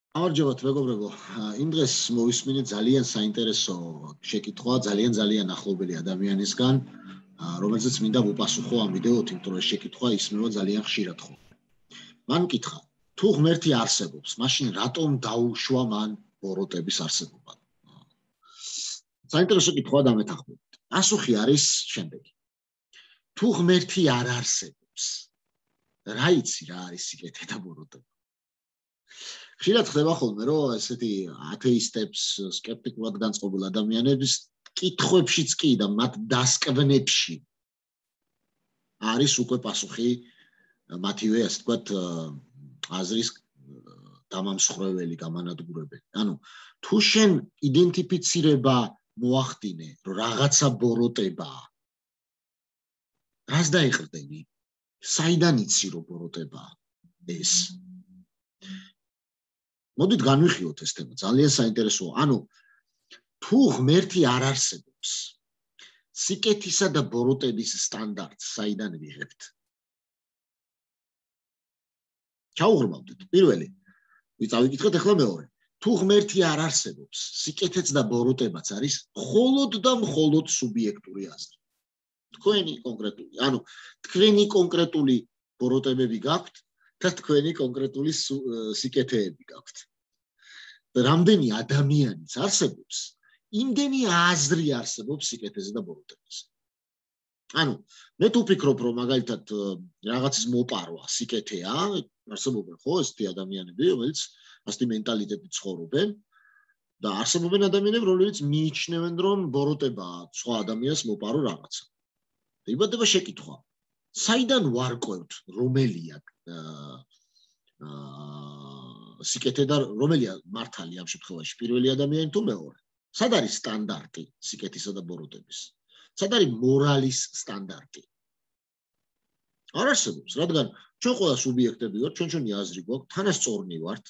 გამარჯობათ მეგობრებო. იმ დღეს მოვისმინეთ ძალიან საინტერესო შეკითხვა, ძალიან ახლობელი ადამიანისგან, რომელზეც მინდა ვუპასუხო ამ ვიდეოთ, იმიტომ რომ შეკითხვა ისმევა ძალიან ხშირად ხო. მან მკითხა, თუ ღმერთი არსებობს, მაშინ რატომ დაუშვა მან ბოროტების არსებობა? საინტერესო კითხვა დამეთანხმებით. პასუხი არის შემდეგი. თუ ღმერთი არ არსებობს, რა იცი რა არის სიკეთე და ბოროტება? ხშირად ხდება ხოლმე, რომ ესეთი ათეისტებს, სკეპტიკულად განწყობილ ადამიანებს კითხვებშიც კი და მათ დასკვნებში არის უკვე პასუხი მათივე, ასე ვთქვათ, აზრის დამამსხვრეველი, გამანადგურებელი. ანუ თუ შენ იდენტიფიცირება მოახდინე, რომ რაღაცა ბოროტებაა, რას დაიყრდენი? საიდან იცი რომ ბოროტებაა ეს? მოდით განვიხილოთ ეს თემა, ძალიან საინტერესოა. ანუ თუ ღმერთი არ არსებობს, სიკეთისა და ბოროტების სტანდარტს საიდან ვიღებთ? ჩაუღრმავდით. პირველი, ვიწავიკითხეთ ახლა მეორე. თუ ღმერთი არ არსებობს, სიკეთეც და ბოროტებაც არის მხოლოდ და მხოლოდ სუბიექტური აზრი. თქვენი კონკრეტული, ანუ თქვენი კონკრეტული ბოროტებები გაქვთ და თქვენი კონკრეტული სიკეთეები გაქვთ. რამდენი ადამიანიც არსებობს, იმდენი აზრი არსებობს სიკეთეზე და ბოროტებაზე. ანუ მე თუ ვფიქრობ, რომ მაგალითად რაღაცის მოპარვა სიკეთეა, არსებობენ ხო ესეთი ადამიანები, რომელიც ასეთი მენტალიტეტით ცხოვრობენ და არსებობენ ადამიანები, რომლებიც მიიჩნევენ, რომ ბოროტებაა სხვა ადამიანს მოპარო რაღაცა. იბადება შეკითხვა, საიდან ვარკვევთ, რომელია სიკეთე და რომელია მართალი ამ შემთხვევაში, პირველი ადამიანი თუ მეორე? სად არის სტანდარტი სიკეთისა და ბოროტების? სად არის მორალის სტანდარტი? არ არსებობს, რადგან ჩვენ ყველა სუბიექტები ვართ, ჩვენი აზრი გვაქვს, თანასწორნი ვართ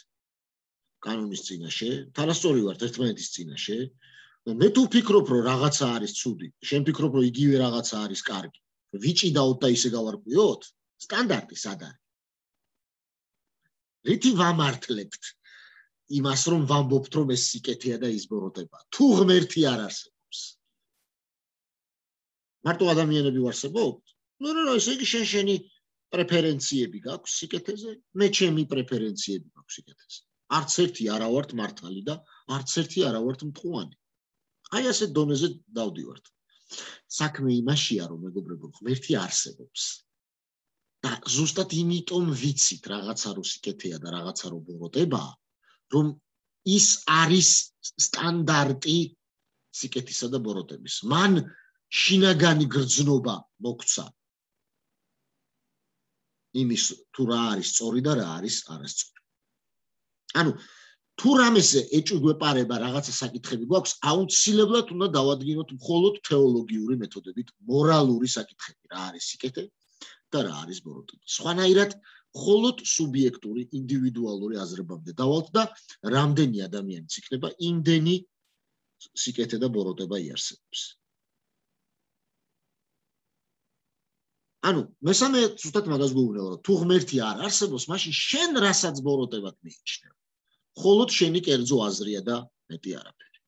კანონის წინაშე, თანასწორი ვართ ერთმანეთის წინაშე. მე თუ ვფიქრობ, რომ რაღაცა არის ცუდი, შენ ფიქრობ, რომ იგივე რაღაცა არის კარგი, ვიჭიდაოთ და ისე გავარკვიოთ, სტანდარტი სად არის? რითი ვამართლებთ იმას, რომ ვამბობთ, რომ ეს სიკეთეა და ის ბოროტებაა? თუ ღმერთი არ არსებობს, მარტო ადამიანები ვარსებობთ? ნუ, ესე იგი შენი პრეფერენციები გაქვს სიკეთეზე, მე ჩემი პრეფერენციები გაქვს სიკეთეზე. არც ერთი არა ვართ მართალი და არც ერთი არა ვართ მტყუანი. აი ასეთ დონეზე დავდივართ. საქმე იმაშია, რომ მეგობრებო, ღმერთი არსებობს. და ზუსტად იმიტომ ვიცით რაღაცა რო სიკეთეა და რაღაცა რო ბოროტებაა, რომ ის არის სტანდარტი სიკეთისა და ბოროტების. მან შინაგანი გრძნობა მოგვცა იმის თუ რა არის სწორი და რა არის არასწორი. ანუ თუ რამეზე ეჭვგვეპარება რაღაცა საკითხები გვაქვს, აუცილებლად უნდა დავადგინოთ მხოლოდ თეოლოგიური მეთოდებით მორალური საკითხები, რა არის სიკეთე და რა არის ბოროტება. სხვანაირად მხოლოდ სუბიექტური, ინდივიდუალური აზრებამდე დავალთ და რამდენი ადამიანიც იქნება, იმდენი სიკეთე და ბოროტება იარსებობს. ანუ მესამე ზუსტად მაგას გვეუბნება, რომ თუ ღმერთი არ არსებობს, მაშინ შენ რასაც ბოროტებად მიიჩნევ, მხოლოდ შენი კერძო აზრია და მეტი არაფერი.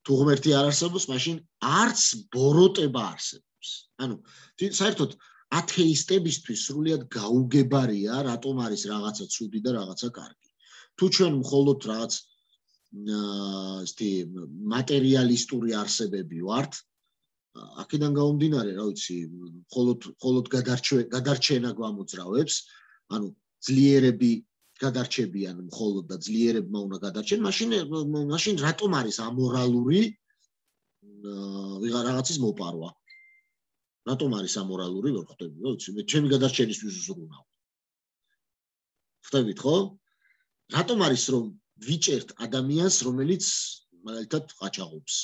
თუ ღმერთი არ არსებობს, მაშინ არც ბოროტება არსებობს. ანუ საერთოდ ათეისტებისთვის სრულიად გაუგებარია, რატომ არის რაღაცა ცუდი და რაღაცა კარგი. თუ ჩვენ მხოლოდ რაღაც მატერიალისტური არსებები ვართ, აქედან გამომდინარე, რა ვიცი, მხოლოდ გადარჩენა გვამოძრავებს, ანუ ძლიერები გადარჩებიან მხოლოდ და ძლიერებმა უნდა გადარჩენ, მაშინ რატომ არის ამორალური რაღაცის მოპარვა? რატომ არის ამორალური, ვერ ხვდები, რა ვიცი, მე ჩემი გადარჩენისთვის ვზრუნავ. ხვდებით, ხო? რატომ არის რომ ვიჭერთ ადამიანს, რომელიც მაგალითად ყაჩაღობს?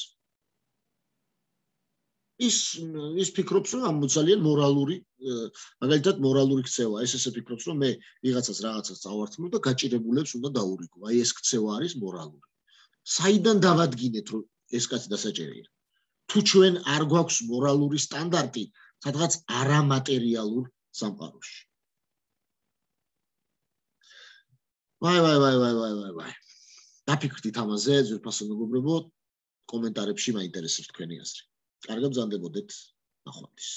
ის ფიქრობს, რომ ამ ძალიან მორალური, მაგალითად მორალური ქცევა, ეს ესე ფიქრობს, რომ მე ვიღაცას რაღაცას წავართმევ და გაჭირებულებს უნდა დაურიგო. აი ეს ქცევა არის მორალური. საიდან დავადგინეთ, რომ ეს კაცი დასაჭერია? თუ ჩვენ არ გვაქვს მორალური სტანდარტი, სადღაც არამატერიალურ სამყაროში. ვაი. დაფიქრდით ამაზე, ძვირფასო მეგობრებო, კომენტარებში მაინტერესებს თქვენი აზრი. კარგად ბრძანდებოდეთ, ნახვამდის.